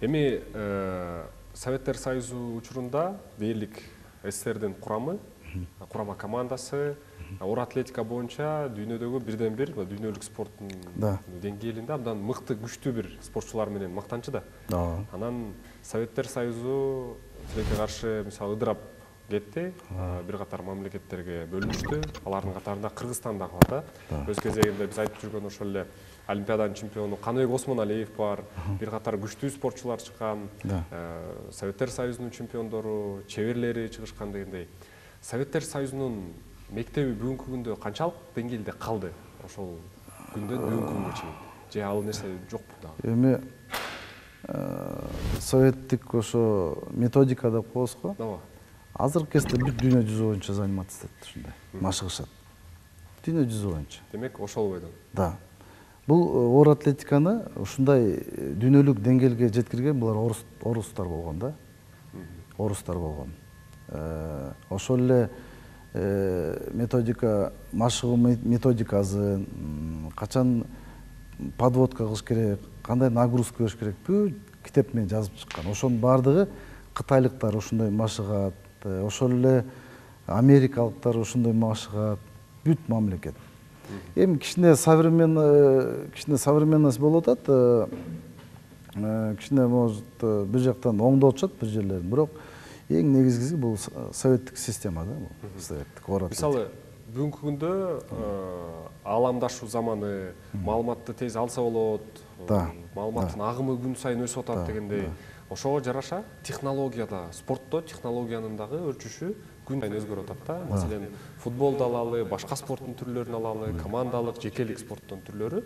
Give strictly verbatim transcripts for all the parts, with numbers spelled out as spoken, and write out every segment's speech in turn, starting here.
Эми Советтер Союзу учурунда дээрлик СССРдин курамы, курама командасы оор атлетика боюнча дүйнөдөгү бирден бир дүйнөлүк спорттун деңгээлинде абдан мыкты, күчтүү бир спортчулар менен мактанчу да. Анан Советтер Союзу тилекке каршы мисалы ыдырап кетти, бир катар мамлекеттерге бөлүнүштү. Алардын катарында Кыргызстан да бар да. Өз кезегинде биз айтып жүргөн ошол эле Олимпиаданын чемпиону Каныбек Осмоналиев бар, бир катар күчтүү спортчулар чыккан, Советтер Союзунун чемпиондору, чеберлери чыгышкан дегендей. Советтер Союзунун мектеби бүгүнкү күндө канчалык деңгээлде калды? Ошол күндөн бүгүнкү күнгө чейин. Же ал нерсе жокпу дагы? Эми советтик ошо методика деп коебуз го. Ооба. Азыркы кезде бүт дүйнө жүзү боюнча заниматься этет ушундай, машыгышат. Дүйнө жүзү боюнча. Демек, ошол бойдон. Да. Бул оор атлетиканы ушундай дүйнөлүк деңгээлге жеткирген булар орустар болгон да. Орустар болгон. Ошол эле методика, машыгуу методикасы, качан подводка кылыш керек, кандай нагрузка бериш керек, бүт китеп менен жазып чыккан. Ошонун баардыгы кытайлыктар ушундай машыгат, ошол эле америкалыктар ушундай машыгат, бүт мамлекет. Эми кичине современный, кичине современность болуп атат, кичине может бир жактан оңдоп атышат бир жерлерин, бирок эң негизгиси бул советтик система да, бул советтик оор атлетика. Мисалы, бүгүнкү күндө ааламдашуу заманы, маалыматты тез алса болот, маалыматтын агымы күн сайын өсүп атат дегендей. Ошого жараша технологияда, спортто технологиянын дагы өрчүшү күн сайын өзгөрүп атат да. Маселен, футболду алалы, башка спорттун түрлөрүн алалы, командалык, жекелик спорттун түрлөрү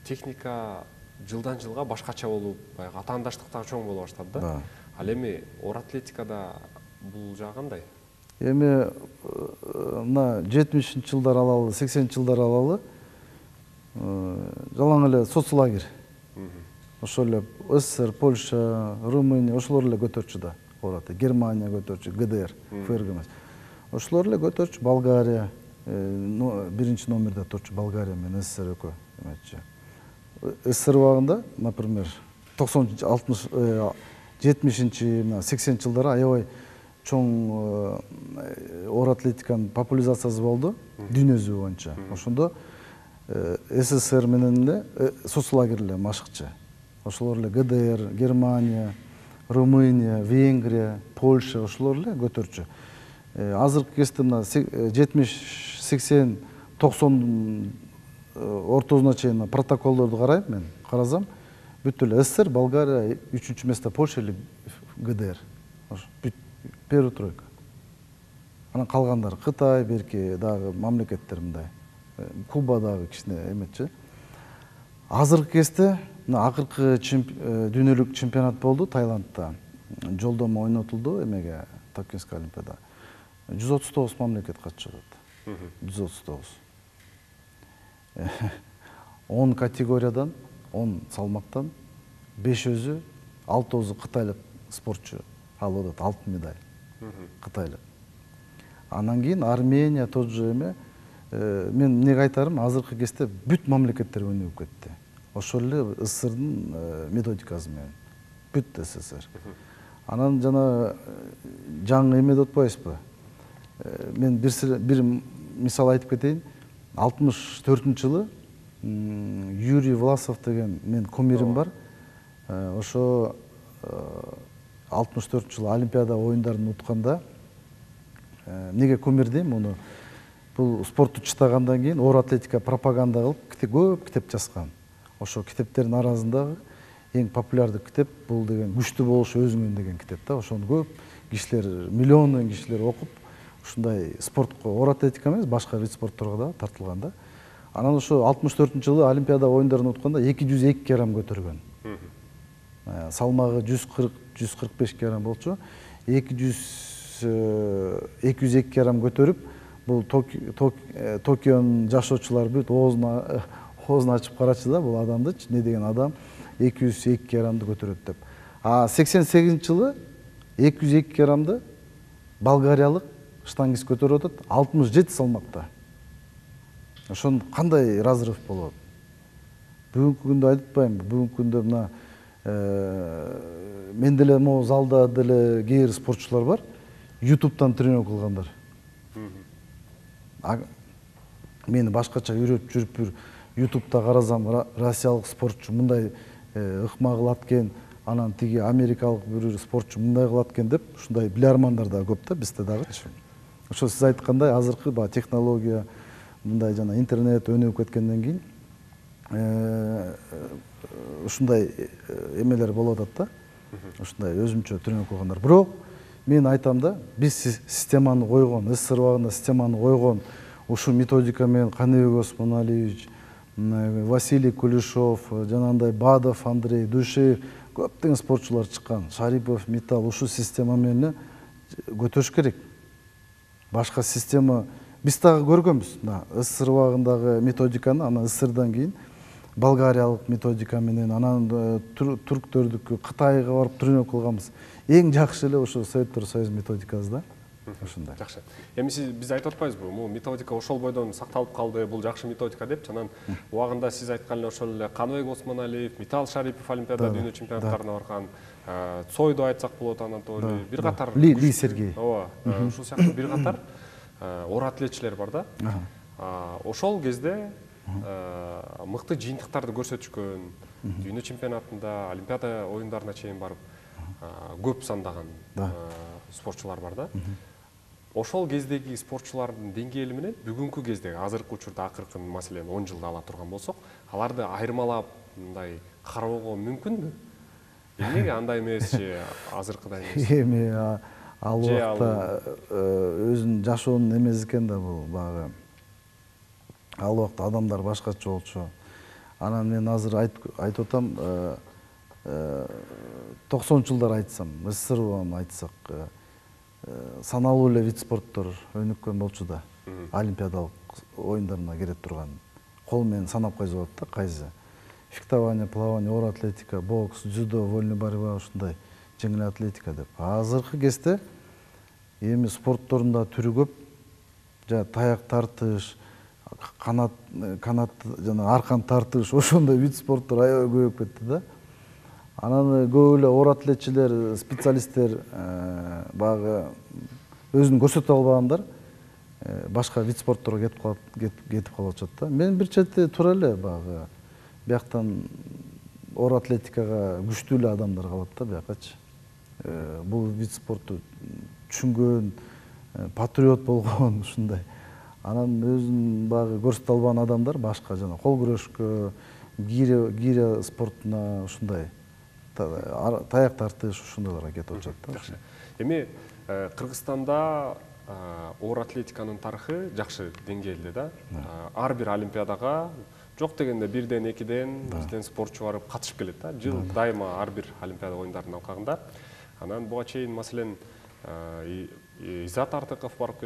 техника жылдан жылга башкача болуп, баягы атаандаштык дагы чоң боло баштады да. Ал эми оор атлетикада бул жагы кандай? Эми мына жетимишинчи жылдар алалы, сексенинчи жылдар алалы жалаң эле соцлагерь. Ошол эле СССР, Польша, Румыния ошолор эле көтөрчү да. Германия көтөрчү, ГДР, ФРГ эмес. Ошолор эле көтөрчү, Болгария, биринчи номерде турчу Болгария менен СССР экөө эметчи. СССР убагында, например, токсонунчу, алтымыш, жетимишинчи, сексенинчи жылдары аябай чоң оор атлетиканын популяризациясы болду дүйнө жүзү боюнча. Ошондо СССР менен эле соцлагерь эле машыкчы. Ошолор эле ГДР, Германия, Румыния, Венгрия, Польша ошолор эле көтөрчү. Азыркы кезде мына жетимиш, сексен, токсон ортосуна чейин протоколдорду карайм мен, карасам, бүт эле СССР, Болгария, үчүнчү месте Польша эле ГДР. Бүт первый тройка. Анан калгандары Кытай, берки дагы мамлекеттер мындай. Куба дагы кичине эметчи. Азыркы кезде мына акыркы дүйнөлүк чемпионат болду Таиландда. Жолдомо ойнотулду эмеге, Токийский олимпиада. жүз отуз тогуз мамлекет катышып атат. жүз отуз тогуз. он категориядан, он салмактан бешөөсү, алтоосу кытайлык спортчу алып атат алтын медаль. Кытайлык. Анан кийин Армения тот же эме, мен эмнеге айтарым, азыркы кезде бүт мамлекеттер өнүгүп кетти. Ошол эле СССРдын методикасы менен. Бүт СССР. Анан жана жаңы эме деп атпайсызбы? Мен бир мисал айтып кетейин. алтымыш төртүнчү жылы Юрий Власов деген мен кумирим бар. Ошо алтымыш төртүнчү жылы Олимпиада оюндарын утканда эмнеге кумир дейм, муну бул спортту чыттагандан кийин оор атлетика пропаганда кылып, көп китеп жазган. Ошо китептердин арасындагы эң популярдуу китеп бул деген күчтүү болуш өзүңөн деген китеп да. Ошону көп кишилер, миллиондон кишилер окуп, ушундай спортко, оор атлетика эмес, башка вид спортторго да тартылган да. Анан ошо алтымыш төртүнчү жылы Олимпиада оюндарын утканда эки жүз эки килограмм көтөргөн. Салмагы жүз кырк, жүз кырк беш килограмм болчу. эки жүз эки килограмм көтөрүп, бул Токионун жашоочулары бүт оозуна оозун ачып карачы да, бул адамдычы, не деген адам эки жүз эки килограммды көтөрөт деп. А сексен сегизинчи жылы эки жүз эки килограммды болгариялык штангист көтөрүп атат алтымыш жети салмакта. Ошон кандай разрыв болот? Бүгүнкү күндө айтпайм, бүгүнкү күндө мына мен деле могу залда деле кээ бир спортчулар бар, ютубтан тренировка кылгандар. Мени башкача үйрөтүп жүрүп бир ютубта карасам, россиялык спортчу мындай ыкма кылат экен, анан тиги америкалык бир спортчу мындай кылат экен деп, ушундай билармандар да көп да бизде дагычы. Ошо сиз айткандай азыркы баягы технология, мындай жана интернет өнүгүп кеткенден кийин ушундай эмелер болуп атат да. Ушундай өзүмчө тренировка кылгандар. Бирок мен айтам да, биз системаны койгон, СССР убагында системаны койгон ушул методика менен Каныбек Осмоналиевич, Василий Кулешов, жанагындай Бадов Андрей, Душеев көптөгөн спортчулар чыккан, Шарипов, Металл ушул система менен көтөрүш керек. Башка система биз дагы көргөнбүз. СССР убагындагы методиканы, анан СССРдан кийин болгариялык методика менен, анан түрктөрдүкү, Кытайга барып тренировка кылганбыз. Эң жакшы эле ошо Советтер Союз методикасы да. Ошондой. Жакшы. Эми сиз биз айтып атпайбызбы? Бул методика ошол бойдон сакталып калды, бул жакшы методика деп. Анан убагында сиз айткан эле ошол эле Каныбек Осмоналиев, Металл Шарипов Олимпиада дүйнө чемпионаттарына барган, Цойду айтсак болот, Анатолий, бир катар Ли Сергей. Ооба, ушул сыяктуу бир катар оор атлетчилер бар да. Ошол кезде мыкты жыйынтыктарды көрсөтүшкөн, дүйнө чемпионатында, Олимпиада оюндарына чейин барып көп сандаган спортчулар бар да. Ошол кездеги спортчулардын деңгээли менен бүгүнкү кездеги азыркы учурда акыркы маселен он жылда ала турган болсок, аларды айырмалап мындай кароого мүмкүнбү? Эмнеге андай эмесчи, азыркыдай эмес? Эми ал убакта өзүнүн жашоонун эмеси экен да бул баягы. Ал убакта адамдар башкача болчу. Анан мен азыр айтып атам, токсонунчу жылдар айтсам, СССР убагын айтсак, саналуу эле вид спорттор өнүккөн болчу да. Олимпиадалык оюндарына кире турган. Кол менен санап койсо болот да, кайсы. Фехтование, плавание, оор атлетика, бокс, дзюдо, вольный борьба, ушундай жеңил атлетика деп. Азыркы кезде эми спорттордун да түрү көп. Жана таяк тартыш, канат канат жана аркан тартыш, ошондой вид спорттор аябай көбөйүп кетти да. Анан көп эле оор атлетчилер, специалисттер баягы өзүн көрсөтө албагандар башка вид спортторго кетип калат, кетип калып атышат да. Мен бир чети туура эле баягы бияктан оор атлетикага күчтүү эле адамдар калат да биякачы. Бул вид спортту түшүнгөн, патриот болгон ушундай. Анан өзүн баягы көрсөтө албаган адамдар башка жана кол күрөшкө, гиря спортуна ушундай таяк тартыш ушундайларга кетип атышат да. Жакшы. Эми Кыргызстанда оор атлетиканын тарыхы жакшы деңгээлде да. Ар бир олимпиадага жок дегенде бирден, экиден бизден спортчу барып катышып келет да. Жыл дайыма ар бир олимпиада оюндарынын алкагында. Анан буга чейин маселен Изат Артыков барып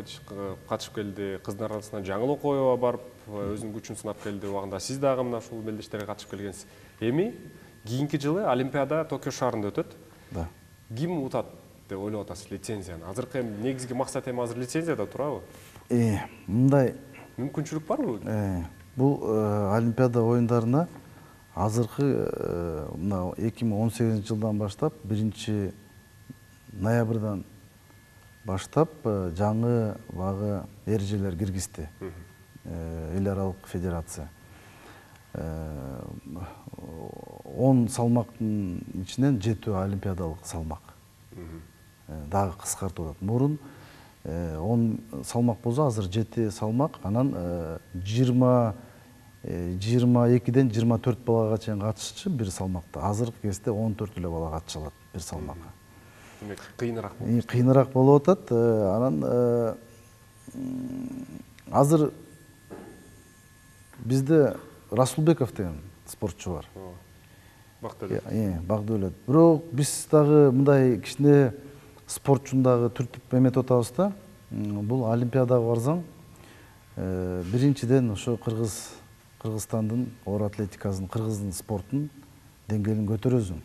катышып келди, кыздар арасында Жаңыл Окоева барып өзүнүн күчүн сынап келди. Убагында сиз дагы мына ушул белдештерге катышып келгенсиз. Эми кийинки жылы Олимпиада Токио шаарында өтөт. Да. Ким утат деп ойлоп атасыз лицензияны? Азыркы эми негизги максат эми азыр лицензияда турабы? Э, мындай мүмкүнчүлүк барбы? Э, бул Олимпиада оюндарына азыркы мына эки миң он сегизинчи жылдан баштап биринчи ноябрдан баштап жаңы багы эрежелер киргизди. Эл аралык федерация. он салмактын ичинен жетөө олимпиадалык салмак. Дагы кыскартып атат. Мурун он салмак болсо азыр жети салмак, анан жыйырма экиден жыйырма төрт балага чейин катышчу бир салмакта. Азыркы кезде он төрт эле бала катыша алат бир салмакка. Демек кыйыныраак болот. Кыйыныраак болуп атат. Анан азыр бизде Расулбеков деген спортчу бар. Бактылы. Э, Багдөлөт. Бирок биз дагы мындай кичине спортчуну дагы түртүп эметип атабыз да. Бул олимпиадага барсаң, биринчиден ошо Кыргыз Кыргызстандын оор атлетикасынын, кыргыздын спортунун деңгээлин көтөрөсүң.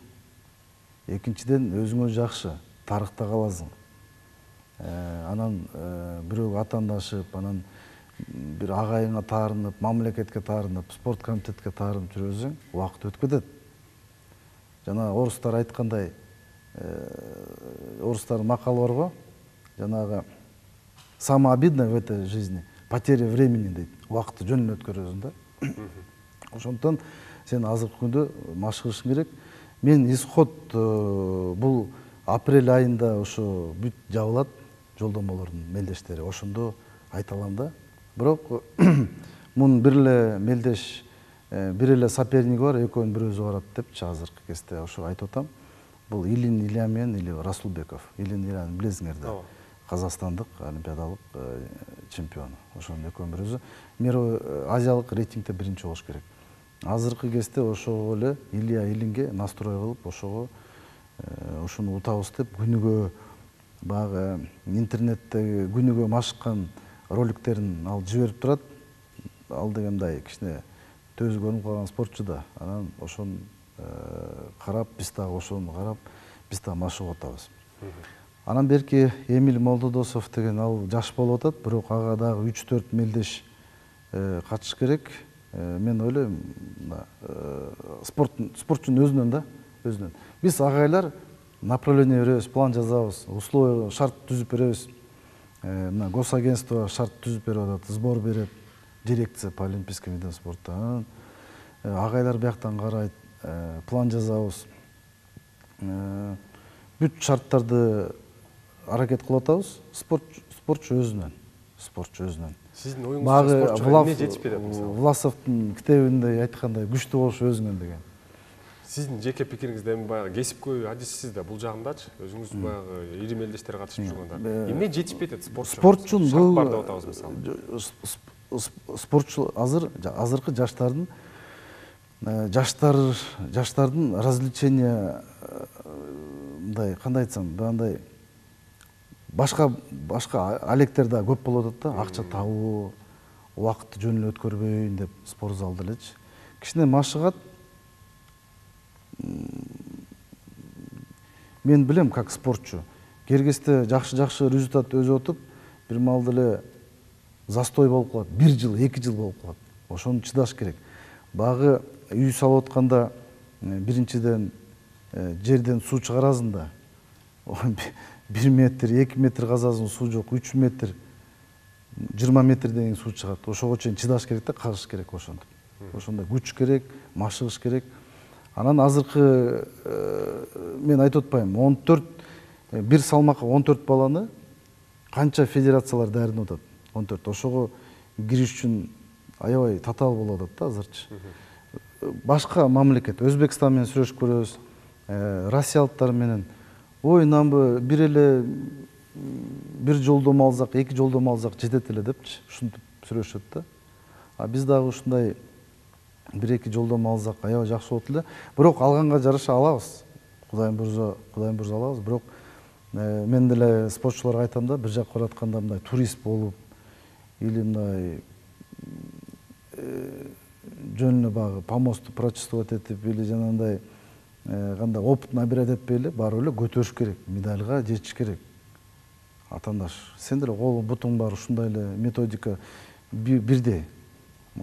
Экинчиден өзүңө жакшы, тарыхта каласың. Анан бирөөгө атаандашып, анан бир агайыңа таарынып, мамлекетке таарынып, спорт комитетке таарынып жүрөсүң, убакыт өтүп кетет. Жана орустар айткандай, орустардын макалы барго, жанагы самое обидное в этой жизни потеря времени дейт. Убакытты жөн эле өткөрөсүң да. Ошондон сен азыркы күндө машыгышың керек. Мен исход бул апрель айында ошо бүт жабылат жолдомолордун мелдештери. Ошондо айта алам да. Бирок мунун бир эле мелдеш, бир эле соперниги бар, экөөнүн бирөөсү барат депчи азыркы кезде ошо айтып атам. Бул Илин Илья менен или Расулбеков. Илин Ильяны билесиңер да. Казакстандык олимпиадалык чемпион. Ошонун экөөнүн бирөөсү мировой азиялык рейтингде биринчи болуш керек. Азыркы кезде ошого эле Илья Илинге настрой кылып, ошого ошону утабыз деп күнүгө баягы интернетте күнүгө машыккан роликтерин алып жиберип турат. Ал дегендай кичине төзү көрүнүп калган спортчу да. Анан ошону карап, биз дагы ошону карап, биз дагы машыгып атабыз. Анан берки Эмиль Молдодосов деген ал жаш болуп атат, бирок ага дагы үч төрт мелдеш катыш керек. Мен ойлойм, спортчунун өзүнөн да, өзүнөн. Биз агайлар направление беребиз, план жазабыз, условия, шарт түзүп беребиз. Мына госагентство шарт түзүп берип атат, сбор берет, дирекция по олимпийским видам спорта. Агайлар бияктан карайт, план жазабыз. Бүт шарттарды аракет кылып атабыз. Спортчу өзүнөн, спортчу өзүнөн. Сиздин оюңузча спортчуга эмне жетишпей атат мисалы? Власовдун китебинде айткандай күчтүү болуш өзүңөн деген. Сиздин жеке пикириңизде эми баягы кесипкөй адиссиз да бул жагындачы, өзүңүз баягы ири мелдештер катышып жүргөндөр. Эмне жетишпей атат спортчу? Спортчун бул бар деп атабыз мисалы. Спортчу азыр азыркы жаштардын жаштар жаштардын развлечения мындай кандай айтсам, мындай башка башка алектер да көп болуп атат да, акча табуу, убакытты жөн эле өткөрбөйүн деп спортзалда элечи. Кичине машыгат. Мен билем как спортчу. Кергесте жакшы-жакшы результат өзүп атып, бир маалда эле застой болуп калат. Бир жыл, эки жыл болуп калат. Ошону чыдаш керек. Багы үй салып атканда биринчиден жерден суу чыгарасың да. бир метр, эки метр казасың, суу жок, үч метр, жыйырма метрден кийин суу чыгат. Ошого чейин чыдаш керек да, кагыш керек ошондо. Ошондой күч керек, машыгыш керек. Анан азыркы мен айтып атпайм, он төрт бир салмакка он төрт баланы канча федерациялар даярдап атат? он төрт. Ошого кириш үчүн аябай татаал болуп атат да азырчы. Башка мамлекет, Өзбекстан менен сүрөшүп көрөбүз, россиялыктар менен. Ой, намбы бир эле бир жолдомо алсак, эки жолдомо алсак жетет эле депчи, ушинтип сүрөшөт да. А биз дагы ушундай бир эки жолдомо алсак аябай жакшы болот эле. Бирок алганга жараша алабыз. Кудайым буйрса, Кудайым буйрса алабыз. Бирок мен деле спортчуларга айтам да, бир жакка баратканда мындай турист болуп или мындай жөн эле багы помосту прочувствовать этип или жанагындай кандай опыт набирать этпей эле барып эле көтөрүш керек, медальга жетиш керек. Атандаш, сен деле колуң бутуң бар, ушундай эле методика бирдей.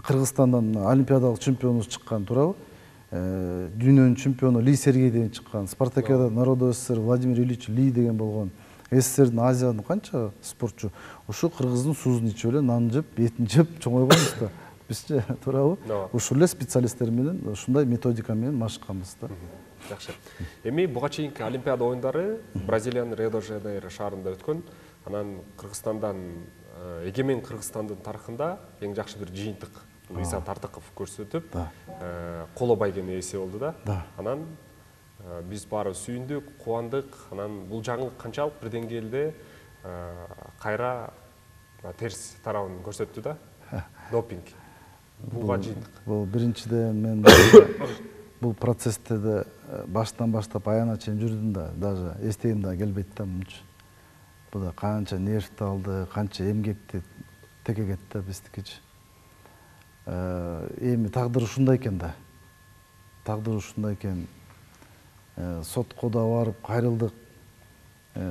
Кыргызстандан олимпиадалык чемпионубуз чыккан, туурабы? Дүйнөнүн чемпиону Ли Сергей деген чыккан, Спартакиада народу СССР Владимир Ильич Ли деген болгон. СССРдин, Азиянын канча спортчу ушу кыргыздын суузун ичип эле, нанын жеп, этин жеп чоңойгонбуз да. Бизчи, туурабы? Ушул эле специалисттер менен ушундай методика менен машыкканбыз да. Жакшы. Эми буга чейинки Олимпиада оюндары Бразилиянын Рио-де-Жанейро шаарында өткөн. Анан Кыргызстандан, эгемен Кыргызстандын тарыхында эң жакшы бир жыйынтык Иса Тартыков көрсөтүп, коло байгеме ээси болду да. Анан биз баары сүйүндүк, кубандык. Анан бул жаңылык канчалык бир деңгээлде кайра терс тарабын көрсөттү да. Допинг. Буга жыйынтык. Бул биринчиден мен бул процессте да баштан баштап аягына чейин жүрдүм да, даже эстегим да келбейт да мынча. Бул да канча нервти алды, канча эмгекти текегет да биздикичи. Эми тагдыр ушундай экен да. Тагдыр ушундай экен. Сотко да барып кайрылдык.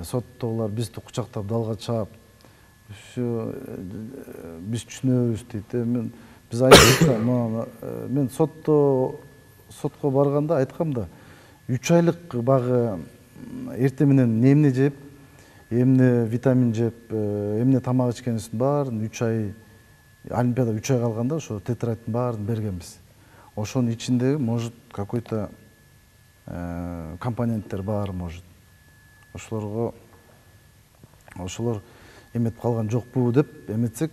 Соттогулар бизди кучактап далга чаап, биз түшүнөбүз дейт. Мен биз айттык, мен сотто сотко барганда айткам да, үч айлык багы эртең менен эмне жеп, эмне витамин жеп, эмне тамак ичкенибиздин баарын үч ай, олимпиада үч ай калганда ошо тетрадьтын баарын бергенбиз. Ошонун ичиндеги может какой-то компоненттер бар, может. Ошолорго ошолор эметип калган жокпу деп эметсек,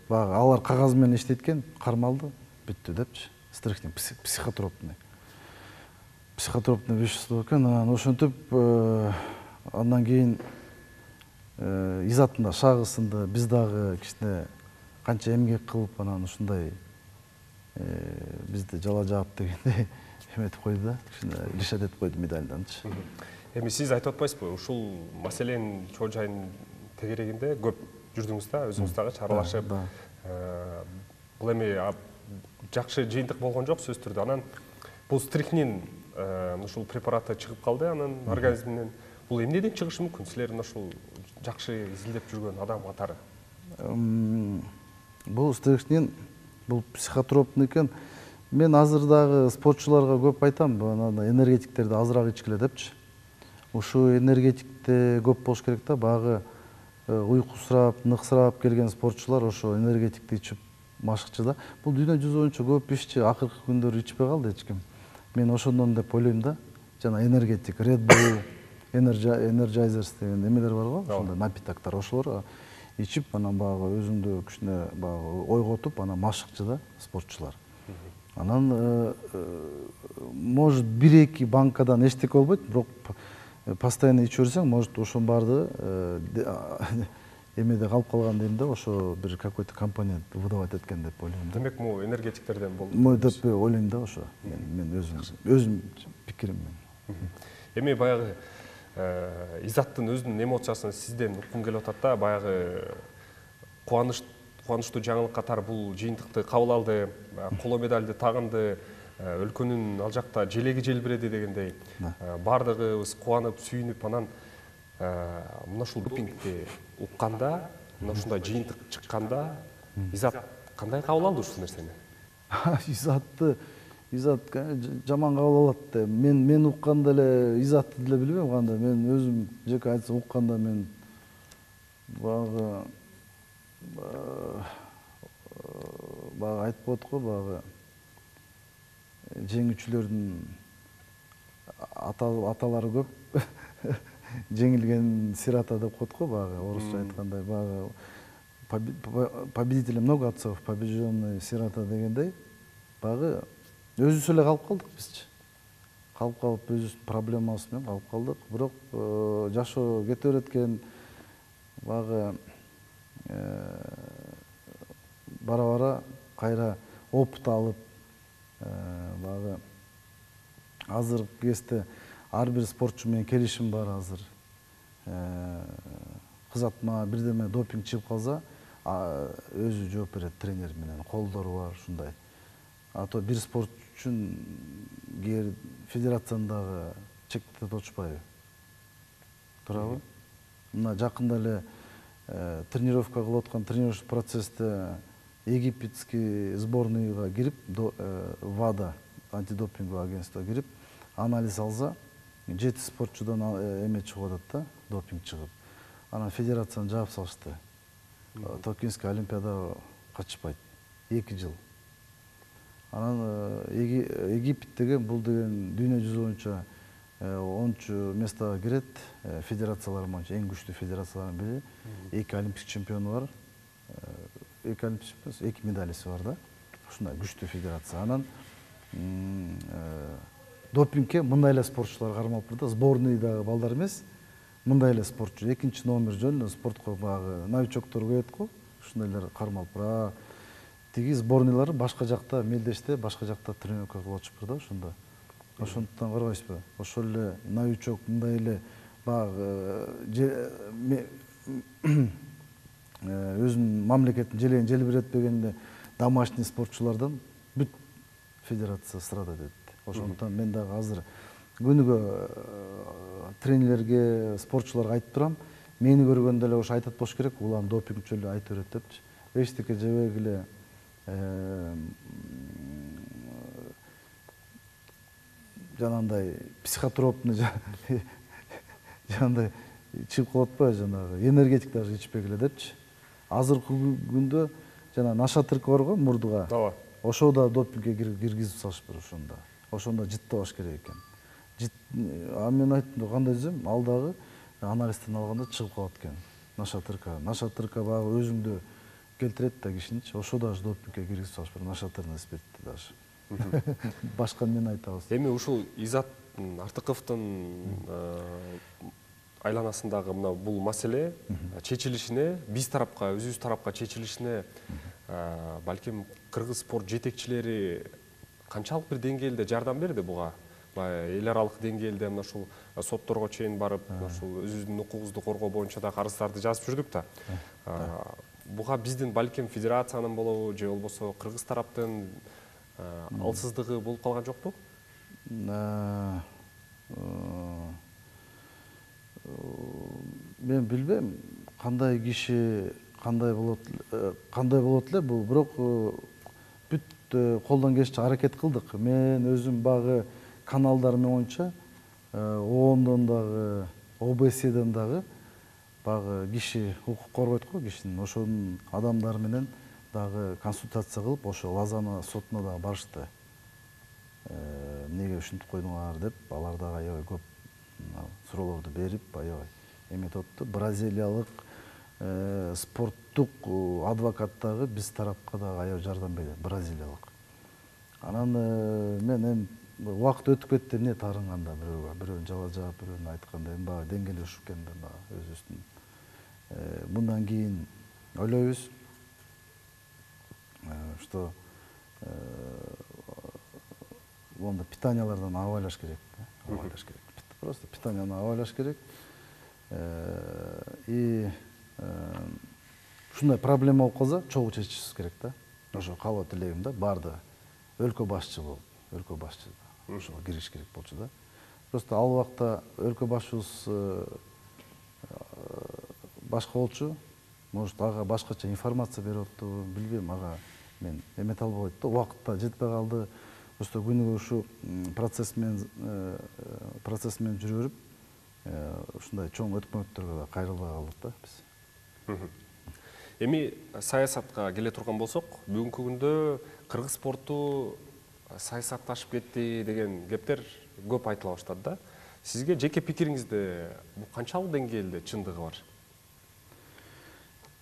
баягы алар кагаз менен иштейт экен, кармалды, бүттү депчи. Стрихнин психотропный. Психотропный вещество экен, анан ошентип андан кийин изаттын да шагысында биз дагы кичине канча эмгек кылып анан ушундай бизди жала жаап дегендей эметип койду да, кичине лишат этип койду медальданчы. Эми сиз айтып атпайсызбы, ушул маселенин чоо жайын тегерегинде көп жүрдүңүз да, өзүңүз дагы аралашып. Бул эми жакшы жыйынтык болгон жок сөзсүз түрдө. Анан бул стрихнин ушул препараты чыгып калды анын организминен. Бул эмнеден чыгышы мүмкүн? Силердин ушул жакшы изилдеп жүргөн адам катары. Бул стрихнин, бул психотропный экен. Мен азыр дагы спортчуларга көп айтам, энергетиктерди азыраак ичкиле депчи. Ушу энергетикте көп болуш керек да, багы уйкусурап, ныксырап келген спортчулар ошо энергетикти ичип машыкчы да. Бул дүйнө жүзү боюнча көп иччи, акыркы күндөрү ичпей калды эч ким. Мен ошондон деп ойлойм да. Жана энергетик, Red Bull, Energizers деген эмелер бар го, ошондой напитоктор, ошолор ичип, анан багы өзүңдү кичине багы ойготуп, анан машыкчы да спортчулар. Анан может бир-эки банкадан эчтеке болбойт, бирок постоянно ичип жүрсөң, может ошонун баарды эмеде калып калган дейм да, ошо бир какой-то компонент выдавать эткен деп ойлойм. Демек, могу энергетиктерден болду. Мо деп ойлойм да ошо. Мен өзүм өзүм пикирим менен. Эми баягы Изаттын өзүнүн эмоциясын сизден уккум келип атат да, баягы кубаныч кубанычтуу жаңылык катары бул жыйынтыкты кабыл алды, коло медальды тагынды, өлкөнүн ал жакта желеги желбиреди дегендей. Бардыгыбыз кубанып, сүйүнүп, анан мына ушул допингди укканда, мына ушундай жыйынтык чыкканда, Изат кандай кабыл алды ушул нерсени? Изатты Изат жаман кабыл алат. Мен мен укканда эле Изатты деле билбейм кандай. Мен өзүм жеке айтсам укканда мен багы багы айтып коет го, багы жеңүүчүлөрдүн аталары көп. Жеңилген сирата деп коет го, багы орусча айткандай, багы победителей много отцов, побежденный сирота дегендей, багы өзүбүз эле калып калдык бизчи. Калып калып өзүбүздүн проблемабыз менен калып калдык. Бирок жашоо кете берет экен, багы бара-бара кайра опыт алып, багы азыркы кезде ар бир спортчу менен келишим бар азыр. Кызатма бирдеме допинг чыгып калса, өзү жооп берет тренер менен, колдору бар ушундай. А то бир спортчу үчүн кээ федерациянын дагы чектеп отушпайбы? Туурабы? Мына жакында эле тренировка кылып аткан тренировочный процессте египетский сборныйга кирип, ВАДА, антидопинговое агентство кирип, анализ алса, жети спортчудан эме чыгып атат да, допинг чыгып. Анан федерацияны жаап салышты. Токийский олимпиадага катышпайт. эки жыл. Анан Египет деген бул деген дүйнө жүзү боюнча онунчу местага кирет, федерациялар боюнча эң күчтүү федерациялардын бири. Эки олимпик чемпиону бар. Эки олимпик чемпион, эки медалиси бар да. Ушундай күчтүү федерация. Анан допингке мындай эле спортчулар кармалып да, сборныйдагы балдар эмес, мындай эле спортчу, экинчи номер жөн эле спортко багы новичоктор коет го, ушундайлар кармалып бара. Тиги сборныйлары башка жакта мелдеште, башка жакта тренировка кылып атышпыр да, ошондо. Ошондуктан карабайсызбы? Ошол эле новичок мындай эле багы өзүнүн мамлекеттин желегин желбиретпегенде домашний спортчулардан бүт федерация страдать этти. Ошондуктан мен дагы азыр күнүгө тренерлерге, спортчуларга айтып турам. Мени көргөндө эле ошо айтат болуш керек, улам допингчу эле айта берет депчи. Эчтеке жебегиле жанагындай психотропный жанагындай чыгып калат атпайбы, жанагы энергетик даже ичпегиле депчи. Азыркы күндө жана нашатырка бар го мурдуга. Ооба. Ошо да допингге киргизип салышпыр ошондо. Ошондо жыттабаш керек экен. Жыт, а мен айттым, кандай десем, ал дагы анализден алганда чыгып калат экен. Нашатырка, нашатырка багы өзүңдө келтирет да кишиничи. Ошо дагы допингге киргизип салышпыр, нашатырный спиртти даже. Башка мен айтабыз. Эми ушул Изат Артыковдун айланасындагы мына бул маселе чечилишине, биз тарапка, өзүбүз тарапка чечилишине балким кыргыз спорт жетекчилери канчалык бир деңгээлде жардам берди буга? Эл аралык деңгээлде мына ушул сотторго чейин барып, ушул өзүбүздүн укугубузду коргоо боюнча да арыздарды жазып жүрдүк да. Буга биздин балким федерациянын болобу, же болбосо кыргыз тараптын алсыздыгы болуп калган жокпу? Мен билбейм, кандай киши кандай болот, кандай болот эле бул, бирок бүт колдон келишинче аракет кылдык. Мен өзүм багы каналдарым боюнча оондон дагы, о бэ сэден дагы багы киши укук коргойт го кишинин, ошонун адамдары менен дагы консультация кылып, ошо Лозанна сотуна дагы барышты. Эмнеге ушинтип койдуңар деп, алар дагы аябай көп суроолорду берип, аябай эметип атты. Бразилиялык спорттук адвокат дагы биз тарапка дагы аябай жардам берди, бразилиялык. Анан мен эми убакыт өтүп кетти, эмне тарынганда бирөөгө, бирөөнүн жала жаап, бирөөнүн айтканда эми баягы деңгээли ушуп экен да өзүбүздүн. Мындан кийин ойлойбуз, что монда питаниялардан абайлаш керек, абайлаш керек. Просто питанияны абайлаш керек. И ушундай проблема болуп калса, чогуу чечишибиз керек да. Ошо каалоо тилегим да, барды өлкө башчы болуп, өлкө башчы ошого кириш керек болчу да. Просто ал убакта өлкө башчыбыз башка болчу, может ага башкача информация берип атты, билбейм, ага мен эмете албай атты, убакытта жетпей калды. Просто күнүгө ушу процесс менен процесс менен жүрүп, ушундай чоң өткмөттөргө да кайрылбай калдык да биз. Эми саясатка келе турган болсок, бүгүнкү күндө кыргыз спорту саясатташып кетти деген кептер көп айтыла баштады да. Сизге жеке пикириңизде бул канчалык деңгээлде чындыгы бар?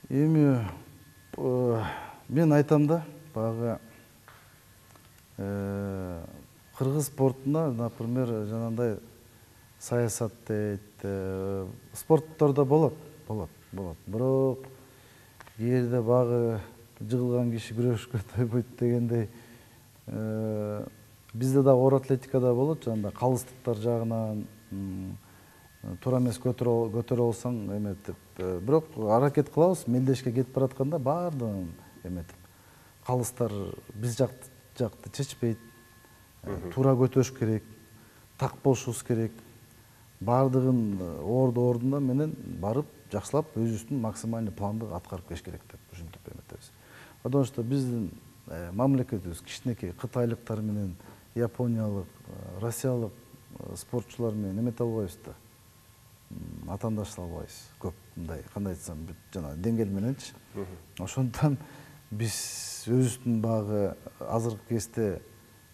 Эми мен айтам да, багы кыргыз спортуна, например, жанагындай саясат дейт, спорттордо болот, болот, болот. Бирок эгерде багы жыгылган киши күрөшкө тойбойт дегендей, бизде дагы оор атлетикада болот, жанагындай калыстыктар жагынан туура эмес көтөрө алсаң эметип, бирок аракет кылабыз, мелдешке кетип баратканда баардыгын эметип, калыстар биз жакты жакты чечпейт, туура көтөрүш керек, так болушубуз керек. Баардыгын орду ордунда менен барып, жакшылап өзүбүздүн максимальный планды аткарып келиш керек деп ушинтип эметебиз. Потому что биздин мамлекетибиз кичинекей кытайлыктар менен, япониялык, россиялык спортчулар менен эмете албайбыз да. Атаандаша албайбыз. Көп мындай, кандай айтсам, жана деңгээл мененчи. Ошондон биз өзүбүздүн багы азыркы кезде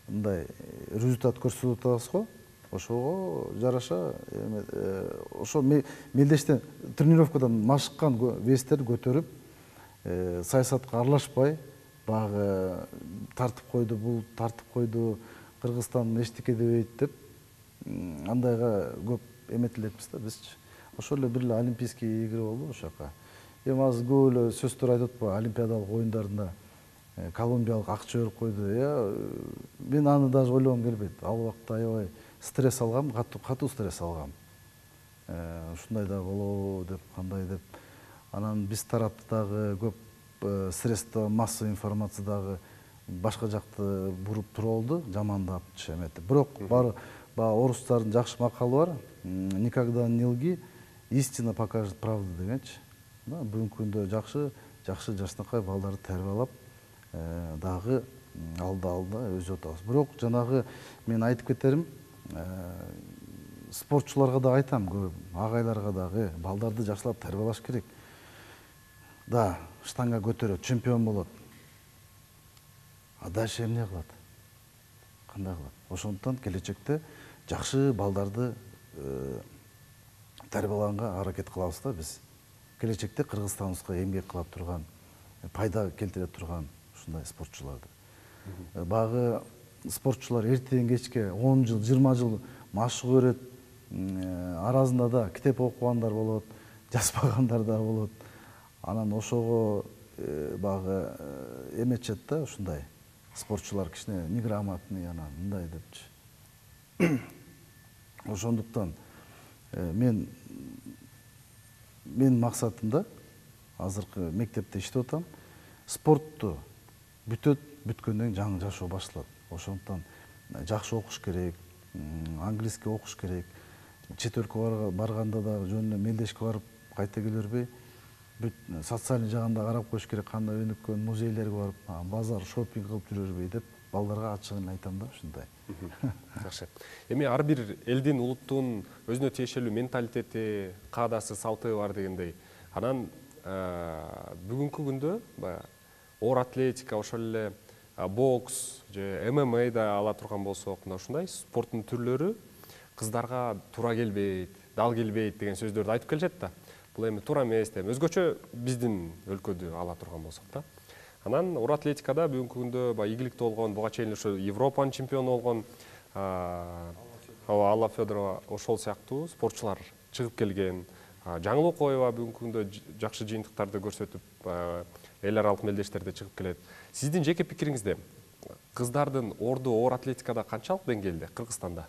мындай результат көрсөтүп атабыз го. Ошого жараша ошо мелдештен тренировкадан машыккан вестерди көтөрүп, саясатка аралашпай, багы тартып койду, бул тартып койду, Кыргызстан эчтеке дебейт деп, андайга көп эметилеппиз да бизчи. Ошол эле бир эле олимпийский игры болду ошол жака. Эми азыр көп эле сөздөр айтып атпайбы, олимпиадалык оюндарында колумбиялык акча берип койду. Мен аны даже ойлогум келбейт. Ал убакта аябай стресс алгам, катуу стресс алгам. Ушундай да болобу деп, кандай деп. Анан биз тарапты дагы көп средства массовый информация дагы башка жакты буруп туруп алды, жамандапчы эметип. Бирок бар орустардын жакшы макалы бар. Никогда не лги, истина покажет правду дегенчи. Бүгүнкү күндө жакшы, жакшы жашнакай балдарды тарбиялап, дагы алда алда өзү атабыз. Бирок жанагы мен айтып кетерим, спортчуларга да айтам, көп агайларга дагы, балдарды жакшылап тарбиялаш керек. Да, штанга көтөрөт, чемпион болот. А дальше эмне кылат? Кандай кылат? Ошондуктан келечекте жакшы балдарды тарбиялаганга аракет кылабыз да биз. Келечекте Кыргызстаныбызга эмгек кылып турган, пайда келтире турган ушундай спортчуларды. Багы спортчулар эртеден кечке он жыл, жыйырма жыл машык көрөт, арасында да китеп окугандар болот, жазбагандар да болот. Анан ошого багы эметчет да ушундай спортчулар кичине неграмотный анан мындай депчи. Ошондуктан мен мен максатым да азыркы мектепте иштеп атам, спортту бүтөт, бүткөндөн жаңы жашоо башталат. Ошондуктан жакшы окуш керек, английский окуш керек. Чет өлкөгө барганда да жөнүнө мелдешке барып кайта келе бербей, социальный жагында карап коюш керек, кандай өнүккөн музейлерге барып, базар, шопинг кылып жүрө бербей деп балдарга ачыгын айтам да ушундай. Жакшы. Эми ар бир элдин, улуттун өзүнө тиешелүү менталитети, каадасы, салты бар дегендей. Анан бүгүнкү күндө оор атлетика, ошол эле бокс же эм эм а да ала турган болсок, мына ушундай спорттун түрлөрү кыздарга туура келбейт, дал келбейт деген сөздөрдү айтып келишет да. Бул эми туура эмес деп. Өзгөчө биздин өлкөдө ала турган болсок да. Анан оор атлетикада бүгүнкү күндө баягы ийгиликтүү болгон, буга чейин ошо Европанын чемпиону болгон Алла Федорова ошол сыяктуу спортчулар чыгып келген. Жаңылыкова бүгүнкү күндө жакшы жыйынтыктарды көрсөтүп, эл аралык мелдештерде чыгып келет. Сиздин жеке пикириңизде кыздардын орду оор атлетикада канчалык деңгээлде Кыргызстанда?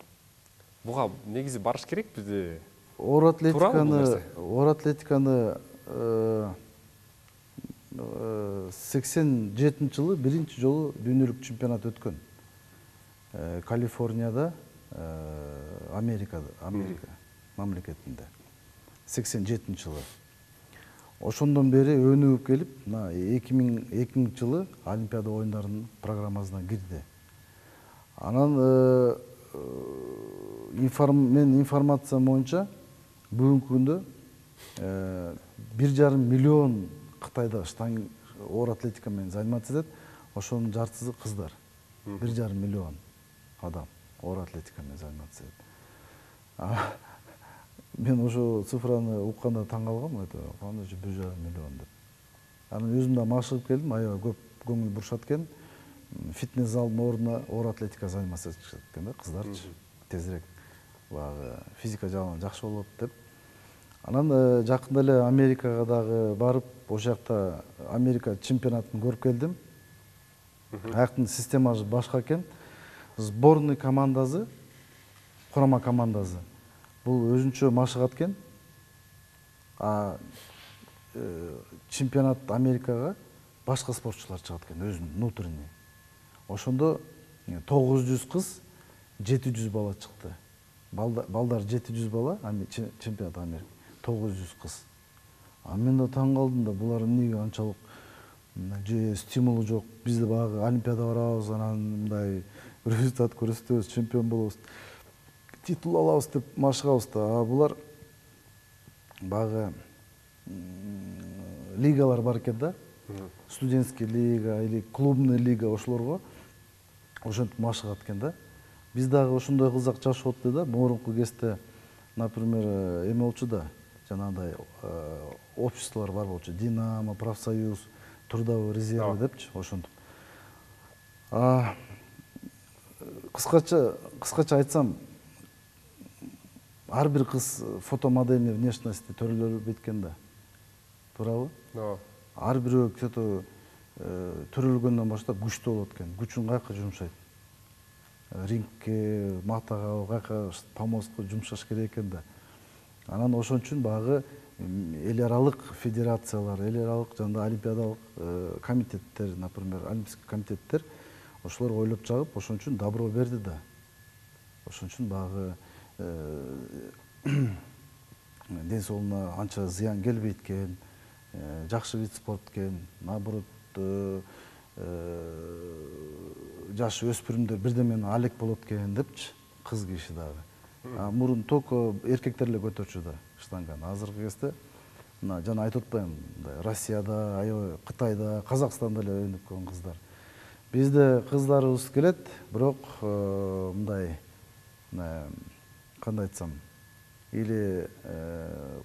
Буга негизи барыш керек бизде? Оор атлетиканы, оор атлетиканы сексен жетинчи жылы биринчи жолу дүйнөлүк чемпионат өткөн. Калифорнияда, Америкада, Америка мамлекетинде. сексен жетинчи жылы. Ошондон бери өнүгүп келип, мына эки миңинчи жылы Олимпиада оюндарынын программасына кирди. Анан мен информациям боюнча бүгүнкү күндө бир жарым миллион Кытайда штанг оор атлетика менен заниматься этет. Ошонун жартысы кыздар. бир жарым миллион адам оор атлетика менен заниматься этет. Мен ошо цифраны укканда таң калгам, это кандай бир жарым миллион деп. Анан өзүм да машыгып келдим, аябай көп көңүл бурушат экен. Фитнес залдын ордуна оор атлетика заниматься этишет экен да, кыздарчы. Тезирээк багы физика жагынан жакшы болот деп. Анан жакында эле Америкага дагы барып, ошол жакта Америка чемпионатын көрүп келдим. Аяктын системасы башка экен. Сборный командасы, курама командасы бул өзүнчө машыгат экен. А чемпионат Америкага башка спортчулар чыгат экен, өзүнүн внутренний. Ошондо тогуз жүз кыз, жети жүз бала чыкты. Балдар жети жүз бала, чемпионат Америка тогуз жүз кыз. А мен да таң калдым да, булар эмнеге анчалык же стимулу жок. Биз да багы Олимпиада барабыз, анан мындай результат көрсөтөбүз, чемпион болобуз, титул алабыз деп машыгабыз да. А булар багы лигалар бар экен да. Студентский лига или клубный лига, ошолорго ошентип машыгат экен да. Биз дагы ошондой кызак жашап атты да. Мурунку кезде, например, эме болчу да, жанагындай обществолор бар болчу. Динамо, профсоюз, трудовой резерв депчи, ошентип. А кыскача, кыскача айтсам, ар бир кыз фотомодельный внешности төрөлөр беткен да. Туурабы? Ар бирөө кето төрөлгөндөн баштап күчтүү болот экен. Күчүн каяка жумшайт? Рингке, матага, каяка помостко жумшаш керек экен да. Анан ошон үчүн багы эл аралык федерациялар, эл аралык жана олимпиадалык комитеттер, например, олимпийский комитеттер ошолор ойлоп чагып, ошон үчүн добро берди да. Ошон үчүн багы ден соолугуна анча зыян келбейт экен, жакшы вид спорт экен, наоборот, жаш өспүрүмдөр бирдемени алек болот экен депчи, кыз киши дагы. Мурун только эркектер эле көтөрчү да штанганы. Азыркы кезде мына жана айтып атпаймынбы, мындай Россияда, аябай Кытайда, Казакстанда эле өнүп келген кыздар. Бизде кыздарыбыз келет, бирок мындай кандай айтсам, или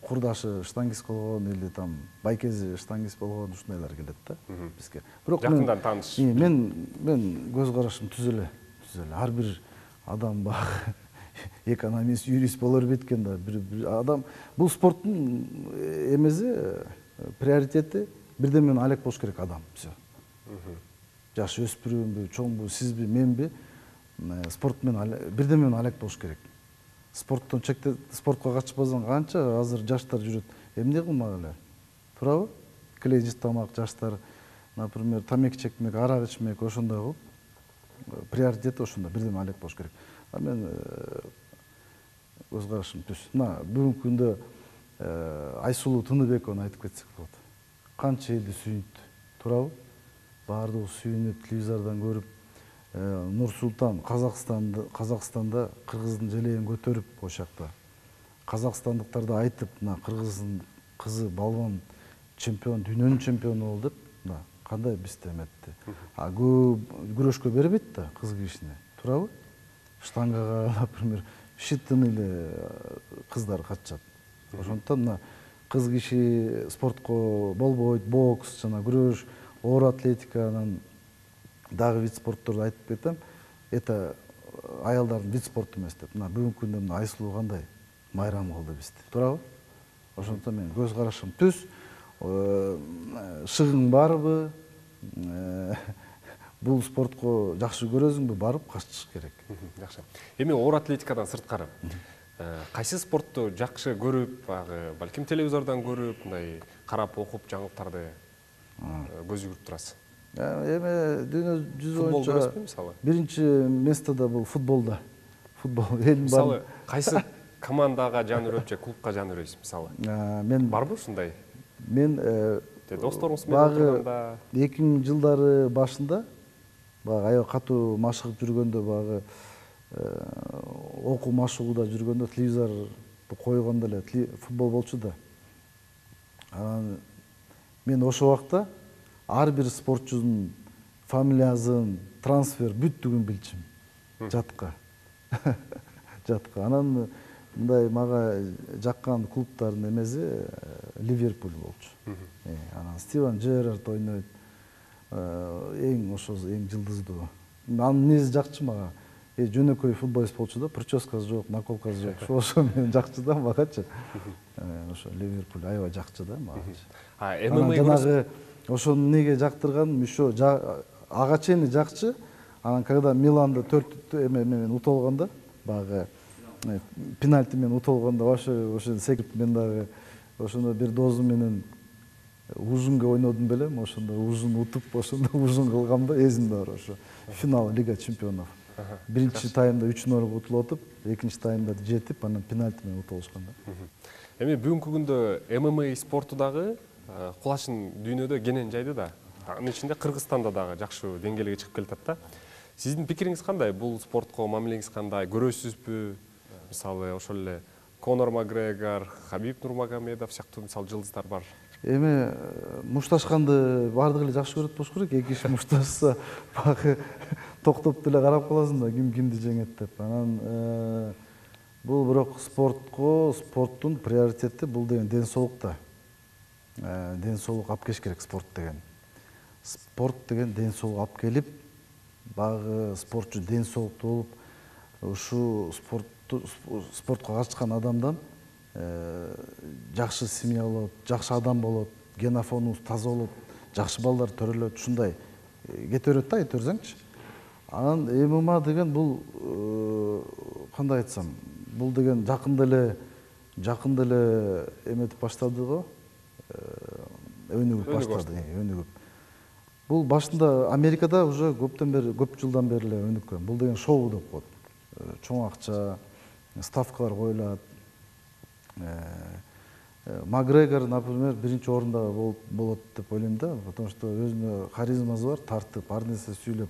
курдашы штангист болгон, или там байкези штангист болгон ушундайлар келет да бизге. Бирок жакындан тааныш. Мен мен көз карашым түз эле, түз эле. Ар бир адам багы экономист, юрист боло бербейт экен да. Бир адам бул спорттун эмеси, приоритети бирден менен алек болуш керек адам. Всё. Жаш өспүрүмбү, чоңбу, сизби, менби, спорт менен бирден менен алек болуш керек. Спорттон чекте спортко катышпасаң канча азыр жаштар жүрөт. Эмне кылмак эле? Туурабы? Клейжис тамак жаштар, например, тамеки чекмек, арак ичмек, ошондой кылып, приоритети ошондо бирден алек болуш керек. А мен көз карашым түз. Мына бүгүнкү күндө Айсулуу Тыныбековну айтып кетсек болот. Канча элди сүйүнүт, туурабы? Баардыгы сүйүнүп, телевизордон көрүп, Нур Султан Казакстанда, Казакстанда кыргыздын желегин көтөрүп ошол жакта. Казакстандыктарды айтып, мына кыргыздын кызы балбан чемпион, дүйнөнүн чемпиону болду деп, мына кандай бизде эметти. А көп күрөшкө бербейт да кыз кишини, туурабы? Штангага, например, считанный эле кыздар катышат. Ошондуктан мына кыз киши спортко болбойт, бокс жана күрөш, оор атлетиканын дагы вид спортторду айтып кетем. Это аялдардын вид спорту эмес деп. Мына бүгүнкү күндө мына Айсулуу кандай майрам кылды бизди, туурабы? Ошондуктан мен көз карашым түз. Шыгың барбы? Бул спортко жакшы көрөсүңбү, барып катышыш керек. Жакшы. Эми оор атлетикадан сырткары кайсы спортту жакшы көрүп, балким телевизордон көрүп, мындай карап окуп жаңылыктарды көз жүгүрүп турасыз? Эми дүйнө жүзү боюнча футбол көрөсүзбү мисалы? Биринчи местода бул футболда. Футбол. Мисалы кайсы командага жан өрөп же клубка жан өрөйсүз мисалы? Мен барбы ушундай? Мен досторуңуз менен турганда эки миң жылдары башында багы аябай катуу машыгып жүргөндө, багы окуу машыгууда жүргөндө телевизорду койгондо эле футбол болчу да. Анан мен ошол убакта ар бир спортчунун фамилиясын, трансфер бүттүгүн билчүм. Жатка. Жатка. Анан мындай мага жаккан клубтардын эмеси Ливерпуль болчу. Анан Стивен Джерард ойнойт. Эң ошо эң жылдыздуу. Анын минези жакчы мага. Э жөнөкөй футболист болчу да, прическасы жок, наколкасы жок. Ошо менен жакчы да магачы. Ошо Ливерпуль аябай жакчы да магачы. А эм эм а жанагы ошону эмнеге жактырганым, ошо ага чейин жакчы. Анан когда Миланда төрт эме менен утулганда, багы пенальти менен утулганда ошо ошо секирип мен дагы ошондо бир досум менен ужунга ойнодум белем, ошондо ужун утуп, ошондо ужун кылгам да, эсимде бар ошо. Финал Лига чемпионов. Биринчи таймда үч ноль утулуп атып, экинчи таймда жетип, анан пенальти менен утулушкан да. Эми бүгүнкү күндө эм эм а спорту дагы кулашын дүйнөдө кенен жайды да. Анын ичинде Кыргызстанда дагы жакшы деңгээлге чыгып келатат да. Сиздин пикириңиз кандай? Бул спортко мамилеңиз кандай? Көрөсүзбү? Мисалы ошол эле Конор Макгрегор, Хабиб Нурмагомедов сыяктуу мисалы жылдыздар бар. Эми мушташканды баардыгы эле жакшы көрөт болуш керек. Эки киши мушташса багы токтоп деле карап каласың да, ким кимди жеңет деп. Анан бул бирок спортко, спорттун приоритети бул деген ден соолук да. Ден соолук алып келиш керек спорт деген. Спорт деген ден соолук алып келип, багы спортчу ден соолуктуу болуп, ушу спортту спортко катышкан адамдан жакшы семья болот, жакшы адам болот, генофонубуз таза болот, жакшы балдар төрөлөт, ушундай кете берет да, айта берсеңчи. Анан эм эм а деген бул кандай айтсам, бул деген жакында эле жакында эле эметип баштады го, өнүгүп баштады, өнүгүп. Бул башында Америкада уже көптөн бери, көп жылдан бери эле өнүккөн. Бул деген шоу деп коет. Чоң акча, ставкалар коюлат. Макгрегор, например, биринчи орунда болот деп ойлойм да, потому что өзүнө харизмасы бар, тартып, ар нерсе сүйлөп.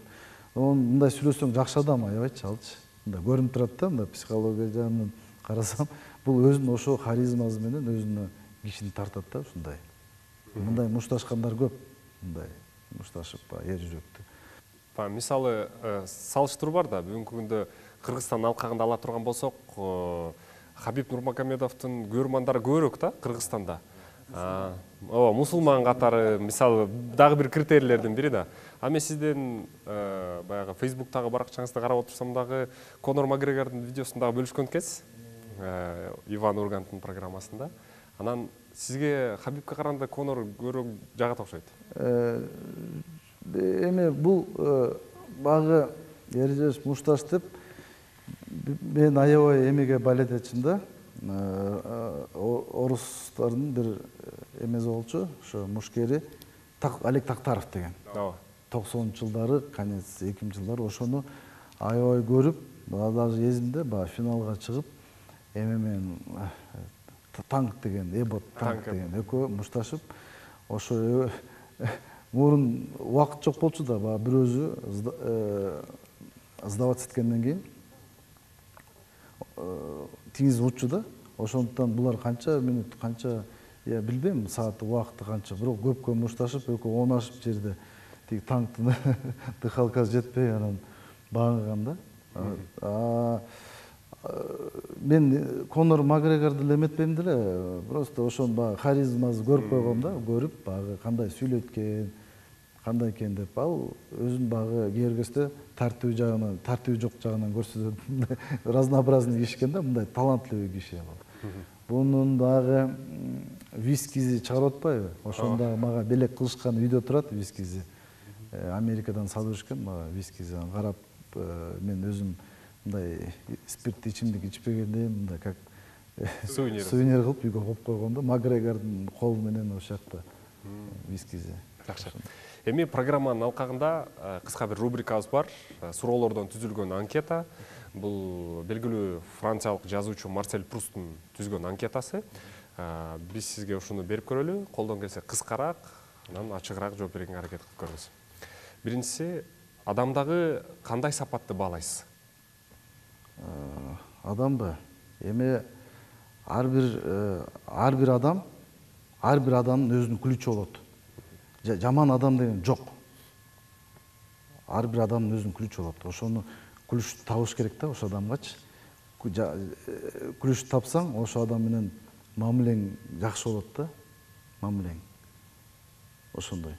Мындай сүйлөсөң жакшы адам, аябайчы алчы. Мындай көрүнүп турат да, мындай психология жагынан. карасам бул өзүнүн ошо харизмасы менен өзүнө кишини тартат да ушундай. Мындай мушташкандар көп, мындай мушташып баягы эр жүрөктүү. Мисалы салыштыруу бар да, бүгүнкү күндө Кыргызстан алкагында ала турган болсок, Хабиб Нурмагомедовдун көрөрмандары көбүрөөк да Кыргызстанда. Ооба, мусулман катары, мисалы, дагы бир критерийлердин бири да. А мен сиздин баягы Facebooктагы баракчаңызды карап отурсам дагы Конор Макгрегордун видеосун дагы бөлүшкөн экенсиз. Иван Урганттын программасында. Анан сизге Хабибке караганда Конор көбүрөөк жагат окшойт. Эми бул багы эрежеш мушташ деп мен аябай эмеге балет этчим да. Орустардын бир эмеси болчу, ошо мушкери Алек Тактаров деген. Ооба. токсонунчу жылдары, конец эки миңинчи жылдары ошону аябай көрүп, даже эсимде баягы финалга чыгып, эме менен Танк деген, Эбот Танк деген экөө мушташып, ошо мурун убакыт жок болчу да, баягы бирөөсү сдаваться эткенден кийин тиңиз уччу да. Ошондуктан булар канча минут, канча, я билбейм, саат убакыты канча, бирок көпкө мушташып, экөө оңашып жерде тиги танктын дыхалкасы жетпей анан баңган да. Мен Конор Макгрегорду эле эметпейм деле, просто ошонун баягы харизмасын көрүп койгом да, көрүп баягы кандай сүйлөйт экен, кандай экен деп, ал өзүн баягы кээргесте тартуу жагынан, тартуу жок жагынан көрсөтөт. Разнообразный киши экен да, мындай талантлуу киши ал. Бунун дагы вискизи чыгарып атпайбы? Ошондо мага белек кылышкан үйдө турат вискизи. Америкадан салып беришкен мага вискизи. Карап мен өзүм мындай спирттүү ичимдик ичпегендейм, мындай как сувенир сувенир кылып үйгө коюп койгом да, Макгрегордун колу менен ошол жакта вискизи. Жакшы. Эми программанын алкагында кыска бир рубрикабыз бар. Суроолордон түзүлгөн анкета. Бул белгилүү франциялык жазуучу Марсель Прустун түзгөн анкетасы. Биз сизге ушуну берип көрөлү. Колдон келсе кыскараак, анан ачыгыраак жооп берүүгө аракет кылып көрүңүз. Биринчиси, адамдагы кандай сапатты баалайсыз? Адамбы? Эми ар бир ар бир адам, ар бир адамдын өзүнүн ключу болот. Жаман адам деген жок. Ар бир адамдын өзүнүн ключу болот. Ошону ключту табыш керек да ошол адамгачы. Ключту тапсаң, ошол адам менен мамилең жакшы болот да. Мамилең. Ошондой.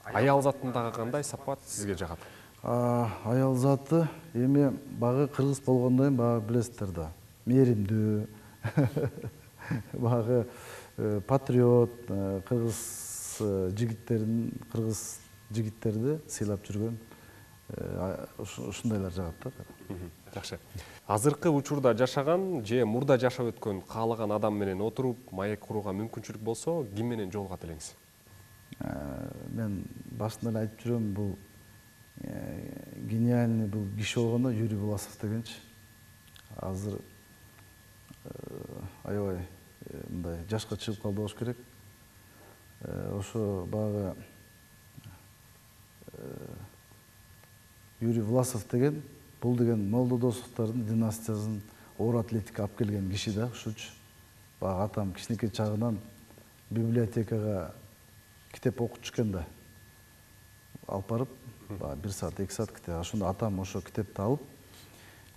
Аял затындагы кандай сапат сизге жагат? Аял заты эми багы кыргыз болгондон багы билесиздер да. Мээримдүү. Багы патриот, кыргыз жигиттерин, кыргыз жигиттерди сыйлап жүргөн ушундайлар жагат да. Жакшы. Азыркы учурда жашаган же мурда жашап өткөн каалаган адам менен отуруп маек курууга мүмкүнчүлүк болсо, ким менен жолугат элеңиз? Мен башында эле айтып жүрөм, бул гениальный бул киши болгондо Юрий Власов дегенчи. Азыр аябай мындай жашка чыгып калды болуш керек. Ошо багы Юрий Власов деген, бул деген Молдодосовдордун династиясын оор атлетика алып келген киши да, ушучу. Багы атам кичинекей чагынан библиотекага китеп окутуш экен да. Алып барып, бир саат, эки саат китеп. Ошондо атам ошо китепти алып,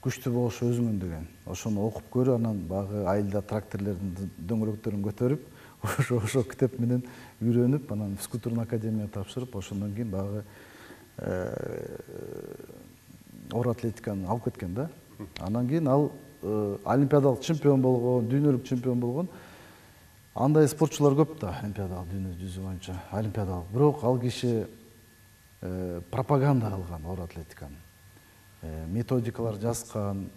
күчтүү болуш өзүңөн деген. Ошону окуп көрүп, анан багы айылда тракторлордун дөңгөлөктөрүн көтөрүп, ошо ошо китеп менен үйрөнүп, анан физкультурный академияга тапшырып, ошондон кийин багы оор атлетиканы алып кеткен да. Анан кийин ал олимпиадалык чемпион болгон, дүйнөлүк чемпион болгон. Андай спортчулар көп да, олимпиадалык дүйнө жүзү боюнча, олимпиадалык. Бирок ал киши пропаганда кылган оор атлетиканы. Методикалар жазган,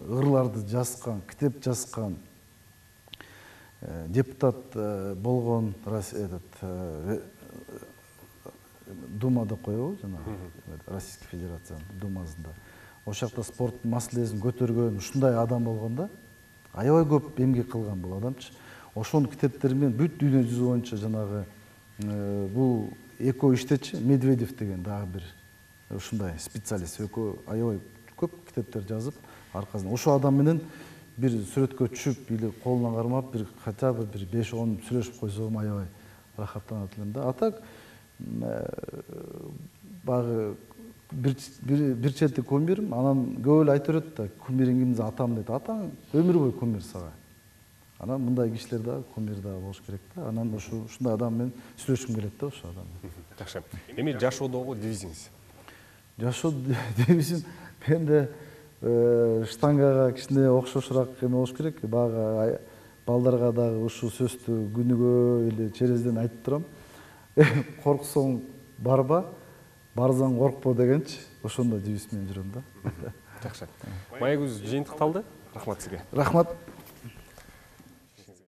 ырларды жазган, китеп жазган. Депутат болгон, этот Думада коебу, жана Российской Федерациянын Думасында. Ошол жакта спорттун маселесин көтөргөн ушундай адам болгондо, аябай көп эмгек кылган бул адамчы. Ошонун китептери менен бүт дүйнө жүзү боюнча жанагы бул экөө иштечи, Медведев деген дагы бир ушундай специалист, экөө аябай көп китептер жазып, аркасында ошол адам менен бир сүрөткө түшүп или колуна кармап бир хотя бы бир беш он сүйлөшүп койсом аябай рахаттанат элем да. А так баягы бир чети кумирим, анан көп эле айта берет да, кумириң ким? Атам дейт. Атаң өмүр бою кумир сага. Анан мындай кишилер да кумир да болуш керек да. Анан ошо ушундай адам менен сүйлөшкүм келет да ошол адам менен. Жакшы. Эми жашоодогу девизиңиз? Жашоо девизим менде штангага кичине окшошураак эме болуш керек. Баягы балдарга дагы ушул сөздү күнүгө или через ден айтып турам. Корксоң барба, барсаң коркпо дегенчи. Ошондой девиз менен жүрөм да. Жакшы. Маегибиз жыйынтыкталды. Рахмат сизге. Рахмат.